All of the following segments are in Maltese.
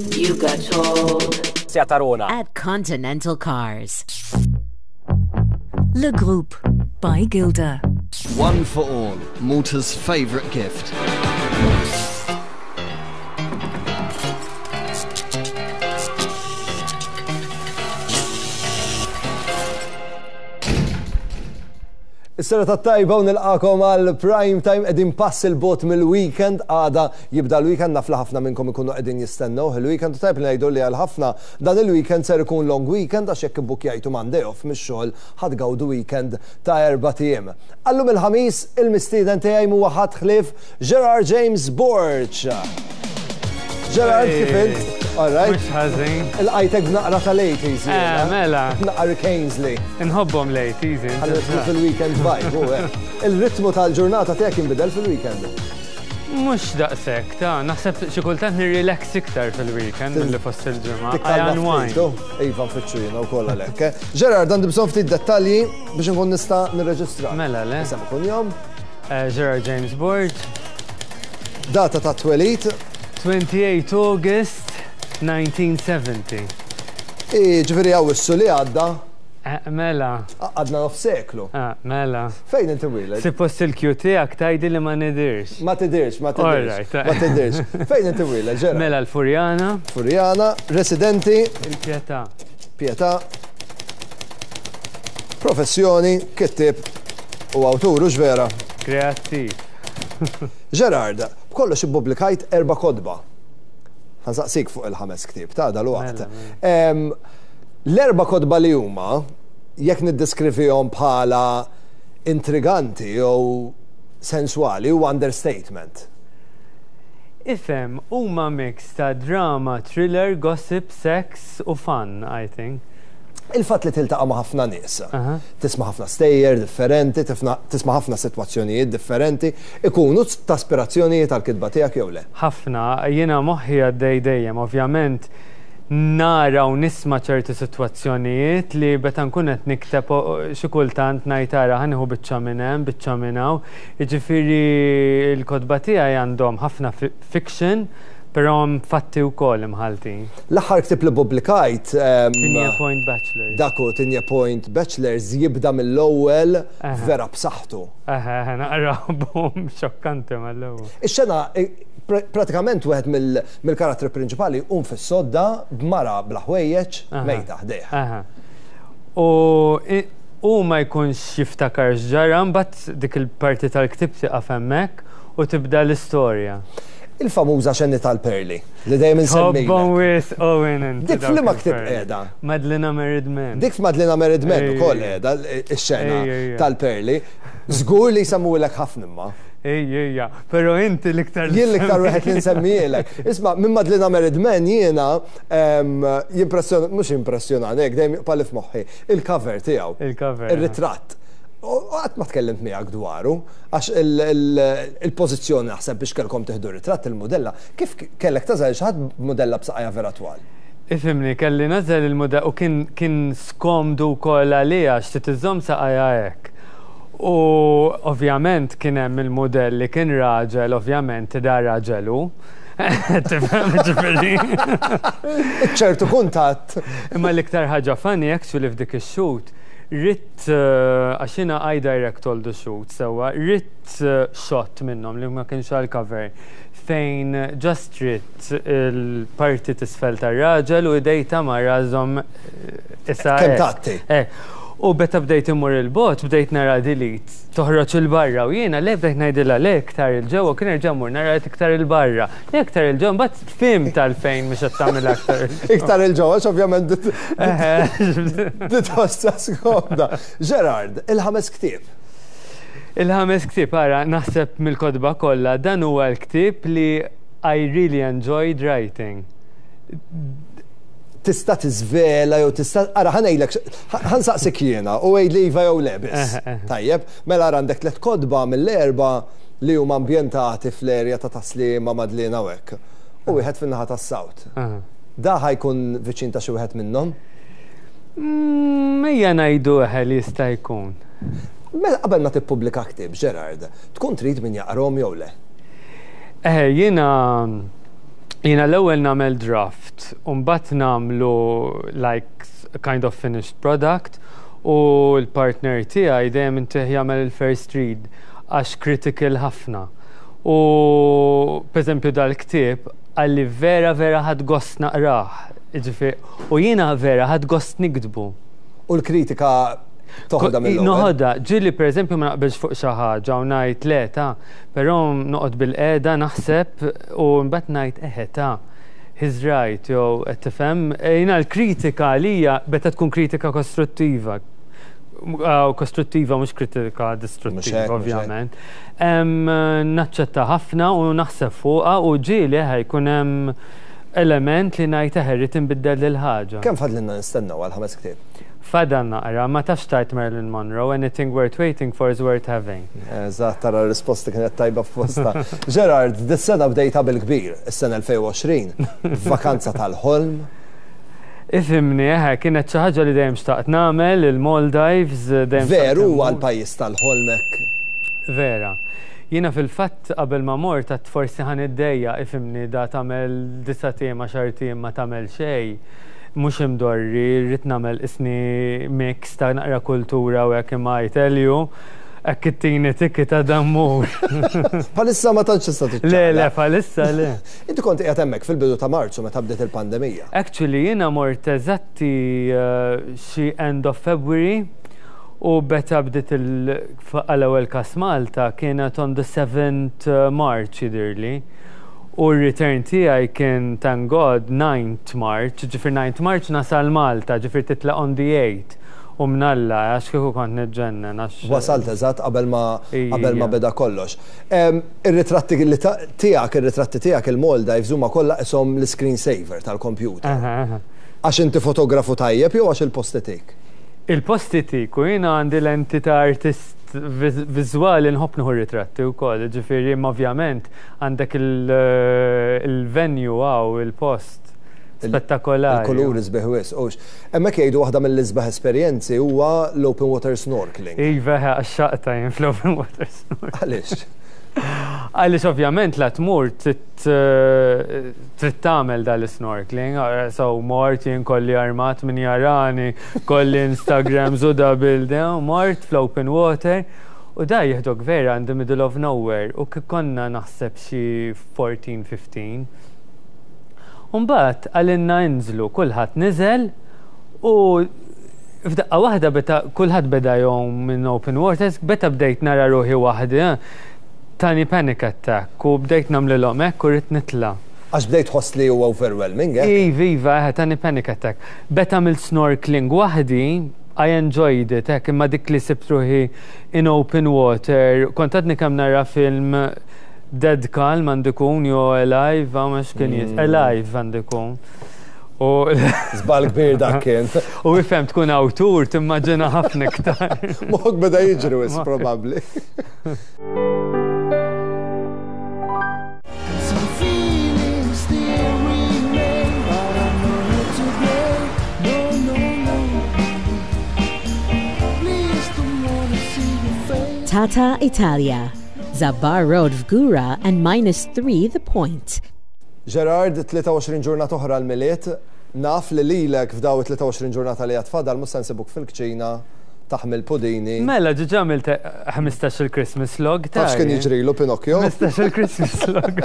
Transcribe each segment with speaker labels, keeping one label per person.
Speaker 1: You got told.
Speaker 2: Seat Arona.
Speaker 1: At Continental Cars.
Speaker 3: Le Groupe by Gilda.
Speaker 4: One for all, Malta's favourite gift.
Speaker 5: Is-sena tajba u nilqakom għal prime time qegħdin pass il-bot mill-weekend għada jibda l-weekend naf li ħafna minnkom ikunu qegħdin jistennew il-weekend u tajb li ngħidu li għal ħafna dan il-weekend ser ikun long weekend għax jekk ibbukjajtu Monday off mix-xogħol ħa tgawdu weekend ta' erbat ijiem. Għal-lum il-Ħamis il-mistieden tiegħi mhuwa ħadd ħlief Gerard James Borg. Gerard, kif int? All right.
Speaker 6: Mhux ħażin.
Speaker 5: Ilqajtek b'naqra tal-80s.
Speaker 6: Eh, mela.
Speaker 5: Naqra Kingsley.
Speaker 6: Inħobbhom l-80s.
Speaker 5: Ħalli nidħlu fil-weekend vibe, u hekk. Il-ritmu tal-ġurnata tiegħek jinbidel fil-weekend.
Speaker 6: Mhux daqshekk, ta' naħseb xi kultant nirrilax iktar fil-weekend milli fost il-ġimgħa. I
Speaker 5: Tikkalma
Speaker 6: unwind.
Speaker 5: ftit, u? Iva, nfittxu jiena wkoll għalhekk. eh. Gerard, għandi bżonn ftit dettalji biex nkun nista' nirreġistra.
Speaker 6: Mela, le.
Speaker 5: Isem u kunjom,
Speaker 6: Gerard James Borg,
Speaker 5: data ta' twelid,
Speaker 6: 28 August 1970.
Speaker 5: ġifieri Awwissu li għadda,
Speaker 6: Mela,
Speaker 5: għadna nof seklu.
Speaker 6: mela.
Speaker 5: Fejn inti mwieled?
Speaker 6: Suppost il-cue tiegħek tgħidli li ma nidirx.
Speaker 5: Ma tidirx, ma tidirx.
Speaker 6: Alright.
Speaker 5: Ma tidirx. Fejn inti mwieled, Gerard?
Speaker 6: Mela l-Furjana,
Speaker 5: Furjana, residenti,
Speaker 6: il-Pietà.
Speaker 5: Pietà, professjoni, kittib u awtur, u vera.
Speaker 6: Kreattiv.
Speaker 5: Gerard, b'kollox ippubblikajt erba' kotba. Ħa nsaqsik fuq il-ħames ktieb ta' dal-waqt.
Speaker 6: Mela,
Speaker 5: L-erba' kotba li huma, jekk niddeskrivihom bħala intriganti jew sensuali, huwa understatement.
Speaker 6: Ifhem, huma mix ta' drama, thriller, gossip, sex u fun, I think.
Speaker 5: Il-fatt li tiltaqa' ma' ħafna nies, tisma' ħafna stejjer differenti, tisma' ħafna sitwazzjonijiet differenti, ikunu ta' aspirazzjonijiet għal-kitba tiegħek jew le?
Speaker 6: Ħafna, jiena moħħi għaddej dejjem, ovvjament nara u nisma' ċerti sitwazzjonijiet li meta nkun qed nikteb xi kultant ngħid ara ħa nieħu biċċa minn hemm, biċċa minn hawn. Jiġifieri l-kotba tiegħi għandhom ħafna fiction, però hemm fatti wkoll imħaltin.
Speaker 5: L-aħħar ktieb li ppubblikajt
Speaker 6: Tigné Point Bachelors.
Speaker 5: Dak hu Tigné Point Bachelors jibda mill-ewwel vera b'saħħtu.
Speaker 6: Eħe, naqra boom xokkanti mal-ewwel.
Speaker 5: Ix-xena pratikament wieħed mill-karattri prinċipali jqum fis-sodda b'mara bla ħwejjeġ mejta ħdejh.
Speaker 6: U hu ma jkunx jiftakar x'ġara, mbagħad dik il-parti tal-ktieb tieqaf hemmhekk u tibda l-istorja.
Speaker 5: Il-famuża xeni tal-perli li dejjem insemmilek.
Speaker 6: Tħobbhom wisq Owen inti.
Speaker 5: Dik f'liema ktieb qiegħda?
Speaker 6: Madlina Married Man.
Speaker 5: Dik f'Madlina Married Man ukoll qiegħda x-xena tal-perli. Żgur li jsemmulek ħafna imma.
Speaker 6: Ejja, ejja, però inti l-iktar.
Speaker 5: Jien l-iktar wieħed li nsemmielek. Isma' minn Madlina Married Man jiena jimpressjona, mhux jimpressjonani hekk dejjem jibqa' li f'moħħi, il-cover tiegħu.
Speaker 6: Il-cover.
Speaker 5: Ir-ritratt. U qatt ma tkellimt miegħek dwaru, għax il-pożizzjoni naħseb biex kellkom tieħdu ritratt il-mudella, kif kellek tagħżel xi ħadd b'mudella b'saqajha vera twal?
Speaker 6: Ifhimni, kelli nagħżel il-mudella u kien kien skomdu wkoll għaliha għax trid iżżomm saqajha hekk. U ovvjament kien hemm il-mudell li kien raġel, ovvjament da raġel hu. Tifhem ġifieri.
Speaker 5: Ċertu kuntatt.
Speaker 6: Imma l-iktar ħaġa funny actually f'dik ix-shoot, ridt għax jiena I direct all the shoots sewwa, ridt shot minnhom li ma kienx għal cover fejn just ridt il-parti t'isfel tar-raġel u idej ta' mara żomm isa.
Speaker 5: Kemm tgħatti.
Speaker 6: U meta bdejt immur il-bogħod bdejt nara delete toħroġ 'il barra u jiena le bdejt ngħidilha le iktar 'il ġewwa kien nerġa' mmur nara iktar 'il barra. Le iktar 'il ġewwa mbagħad fhimt għalfejn mhux qed tagħmilha aktar 'il ġewwa.
Speaker 5: Iktar 'il ġewwa għax ovvjament titħossha skomda. Gerard, il-ħames ktieb.
Speaker 6: Il-ħames ktieb, ara, naħseb mill-kotba kollha dan huwa l-ktieb li I really enjoyed writing.
Speaker 5: Tista' tiżvela jew tista' ara ħa ngħidlek ħa nsaqsik jiena u għidli iva jew le biss. Tajjeb, mela ara għandek tliet kotba mill-erba' li huma ambjentati fl-erja ta' Taslima, Madliena u hekk. U wieħed fin-naħa tas-South. Da ħa jkun viċin ta' xi wieħed minnhom?
Speaker 6: Ejja ngħidu eħe li jista' jkun.
Speaker 5: Mela qabel ma tippubblika ktieb, Gerard, tkun trid min jaqrahom jew le?
Speaker 6: Eħe, jiena jiena l-ewwel nagħmel draft. draft u mbagħad nagħmlu like kind of finished product u l-partner tiegħi dejjem intih jagħmel il-first read għax critical ħafna. U pereżempju dal-ktieb qalli vera vera ħadt gost naqrah, jiġifieri u jiena vera ħadt gost niktbu.
Speaker 5: U l-kritika toħodha mill-ewwel?
Speaker 6: Noħodha, ġieli pereżempju ma naqbilx fuq xi ħaġa u ngħid le ta, però noqgħod bilqiegħda naħseb u mbagħad ngħid eħe ta, he's right jew qed tifhem? Jiena l-kritika għalija meta tkun kritika kostruttiva, kostruttiva mhux kritika distruttiva ovvjament. Naċċetta ħafna u naħseb fuqha u ġieli eħe jkun hemm element li ngħid eħe rrid inbiddel dil ħaġa.
Speaker 5: Kemm fadlilna nistennew għall-ħames ktieb?
Speaker 6: Fadal naqra, ma tafx tgħid Marilyn Monroe, anything worth waiting for is worth having.
Speaker 5: Eżatt, tara r-risposta kienet tajba f'postha. Gerard, dis-sena bdejtha bil-kbir, is-sena 2020, b'vakanza tal-ħolm.
Speaker 6: Ifhimni, eħe, kienet xi ħaġa li dejjem xtaqt nagħmel, il-Maldives, dejjem xtaqt.
Speaker 5: Veru huwa l-pajjiż tal-ħolm hekk?
Speaker 6: Vera. Jiena fil-fatt qabel ma mort għedt forsi ħa niddejjaq, ifhimni, da tagħmel disat ijiem, għaxart ijiem ma tagħmel xejn. Mhux imdorri, rrid nagħmel qisni mix ta' naqra kultura u hekk imma I tell you, hekk ittini ticket għada mmur.
Speaker 5: Bħalissa ma tantx tista' tiċċaqlaq.
Speaker 6: Le, le, bħalissa le.
Speaker 5: Inti kont qiegħed hemmhekk fil-bidu ta' Marzu meta bdiet il-pandemija.
Speaker 6: Actually jiena mort eżatti xi end of February u meta bdiet għal-ewwel każ Malta kienet on the 7th March jidhirli. U r-return tiegħi kien thank God 9th March, ġifier 9th March nasal Malta, ġifier titlaq on the 8th. U mnalla, għax kieku kont niġġennen għax.
Speaker 5: Wasalt eżatt qabel ma qabel ma beda kollox. Ir-ritratti li tiegħek, ir-ritratti tiegħek il-Maldives huma kollha qishom l-iscreen saver tal-kompjuter. Għax inti fotografu tajjeb jew għax il-post itik?
Speaker 6: Il-post itik u jiena għandi lenti ta' artist viżwali nħobb nieħu ritratti wkoll, ġifieri imma ovvjament Għandek il-venue hawn, il-post. Spettakolari.
Speaker 5: Il-kuluri sbieħ wisq, hux. Hemmhekk jgħidu waħda mill-isbaħ esperjenzi huwa l-open water snorkeling.
Speaker 6: Iva, eħe, għaxxaqtha jien fl-open water snorkeling.
Speaker 5: Għaliex?
Speaker 6: Għaliex ovvjament la tmur trid trid tagħmel dal-snorkeling, so mort jien kolli armat min jarani, kolli Instagrams u da bil mort fl-open water. U da jieħdok vera in the middle of nowhere u konna naħseb xi 14, 15. U mbagħad qalilna inżlu, kulħadd niżel u f'daqqa waħda beta kulħadd beda jgħum minn open waters, beta bdejt nara ruħi waħdi, tani panic attack u bdejt nagħmlilhom hekk u ridt nitla'.
Speaker 5: Għax bdejt tħoss li huwa overwhelming, hekk?
Speaker 6: Iva, iva, eħe, tani panic attack. Beta għamilt snorkeling waħdi, I enjoyed it, hekk, imma dik li sibt ruħi in open water, kont għadni kemm nara film Dead Calm għandu jkun jew Alive, hawn għax kien jis, Alive għandu jkun. U
Speaker 5: Żball kbir dak kien.
Speaker 6: U ifhem tkun awtur timmaġina ħafna iktar.
Speaker 5: Moħħok beda jiġri wisq probabbli.
Speaker 1: Tata Italia, Zabbar Road Fgura and minus 3 The Point.
Speaker 5: Gerard, 23 ġurnata oħra l-Milied, naf li lilek f'daw it-23 ġurnata li għad fadal mhux se nsibuk fil-kċina taħmi l-pudini.
Speaker 6: Mela, ġiġa għamilt 15 il-Christmas log.
Speaker 5: Taf x'kien jiġrilu Pinocchio?
Speaker 6: 15 il-Christmas log.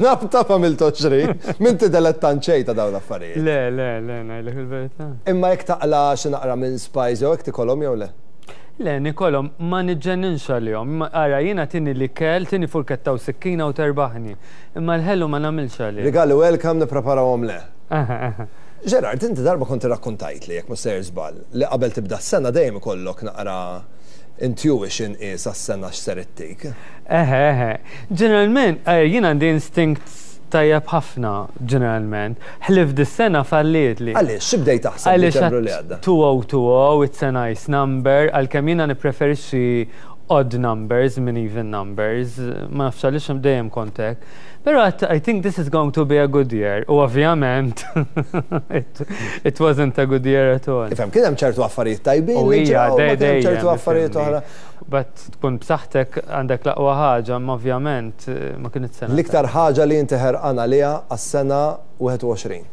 Speaker 5: Naf taf għamilt 20. M'inti delettant xejn ta' dawn l-affarijiet.
Speaker 6: Le, le, le, ngħidlek il-verità.
Speaker 5: Imma jekk taqla' xi naqra mince pies jew hekk tikolhom jew le?
Speaker 6: Le, nikolhom, ma niġġenninx għalihom. Ara, jiena tini l-ikel, tini furketta u sikkina u terbaħni. Imma l-ħelu ma nagħmilx għalih.
Speaker 5: Rigali welcome nippreparahom le.
Speaker 6: Aha, aha.
Speaker 5: Gerard, inti darba kont irrakkuntajtli, jekk mhux sejjer żball, li qabel tibda s-sena dejjem ikollok naqra intuition qies għas-sena x'ser ittik.
Speaker 6: Eħe, eħe. Ġeneralment, jien għandi instinct tajjeb ħafna, ġeneralment. Ħlief dis-sena fallietli.
Speaker 5: Għaliex? Xi bdejt taħseb Diċembru li għadda?
Speaker 6: Għaliex 2020, it's a nice number, għalkemm jiena nippreferixxi odd numbers minn even numbers, ma nafx għaliex dejjem kont hekk. Però għedt I think this is going to be a good year u ovvjament it, it wasn't a good year at all.
Speaker 5: Ifhem, kien hemm ċertu affarijiet tajbin
Speaker 6: U
Speaker 5: li
Speaker 6: hija,
Speaker 5: ġraw, ma kien hemm
Speaker 6: dejjem,
Speaker 5: ċertu affarijiet
Speaker 6: ifhimni.
Speaker 5: oħra.
Speaker 6: But tkun b'saħħtek għandek l-aqwa ħaġa, imma ovvjament ma kinitx sena
Speaker 5: L-iktar ħaġa li inti ħerqan għaliha għas-sena 21.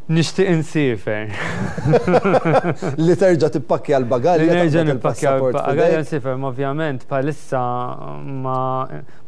Speaker 6: Nixtieq insiefer.
Speaker 5: Li terġa' tippakkja l-bagalja.
Speaker 6: Li nerġa' nippakkja l-bagalja nsiefer, ma ovvjament bħalissa ma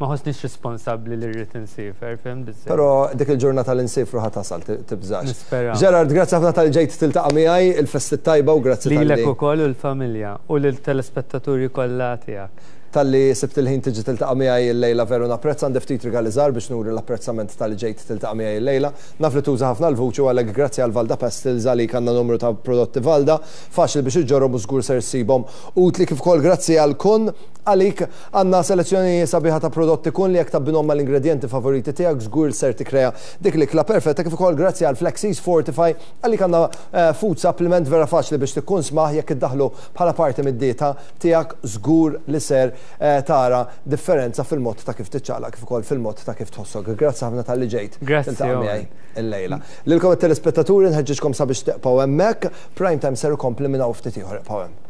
Speaker 6: ma ħossnix responsabbli li rrid insiefer, fhimt biżżejjed.
Speaker 5: Però dik il-ġurnata li nsifru ħa tasal, tibżax.
Speaker 6: Nispera.
Speaker 5: Gerard, grazzi ħafna talli ġejt tiltaqa' miegħi, il-festi t-tajba u grazzi talli.
Speaker 6: Lilek ukoll u l-familja u lill-telespettaturi kollha tiegħek.
Speaker 5: Talli sibt il-ħin tiġi tiltaqa' miegħi illejla veru napprezza, għandi ftit rigali żgħar biex nuri l-apprezzament talli ġejt tiltaqa' miegħi illejla. Naf li tuża ħafna l-vuċi u għalhekk grazzi għal Valda Pastels għalik għandna numru ta' prodotti Valda, faċli biex iġġorrhom u żgur ser issibhom utli kif ukoll grazzi għal Kun għalik għandna selezzjoni sabiħa ta' prodotti Kun li jekk tabbinhom mal-ingredjenti favoriti tiegħek żgur ser tikkrea dik l-ikla perfetta kif ukoll grazzi għal Flexies Fortify għalik għandna eh, food supplement vera faċli biex tikkunsmah jekk iddaħħlu bħala parti mid-dieta tiegħek żgur li ser eh, tara differenza fil-mod ta' kif tiċċaqlaq kif ukoll fil-mod ta' kif tħossok. Grazzi ħafna talli ġejt.
Speaker 6: Grazzi.
Speaker 5: Tiltaqa' miegħi illejla. Lilkom it-telespettaturi nħeġġiġkom sabiex tibqgħu hemmhekk. Prime Time ser ikompli minn hawn ftit ieħor ibqgħu hemm.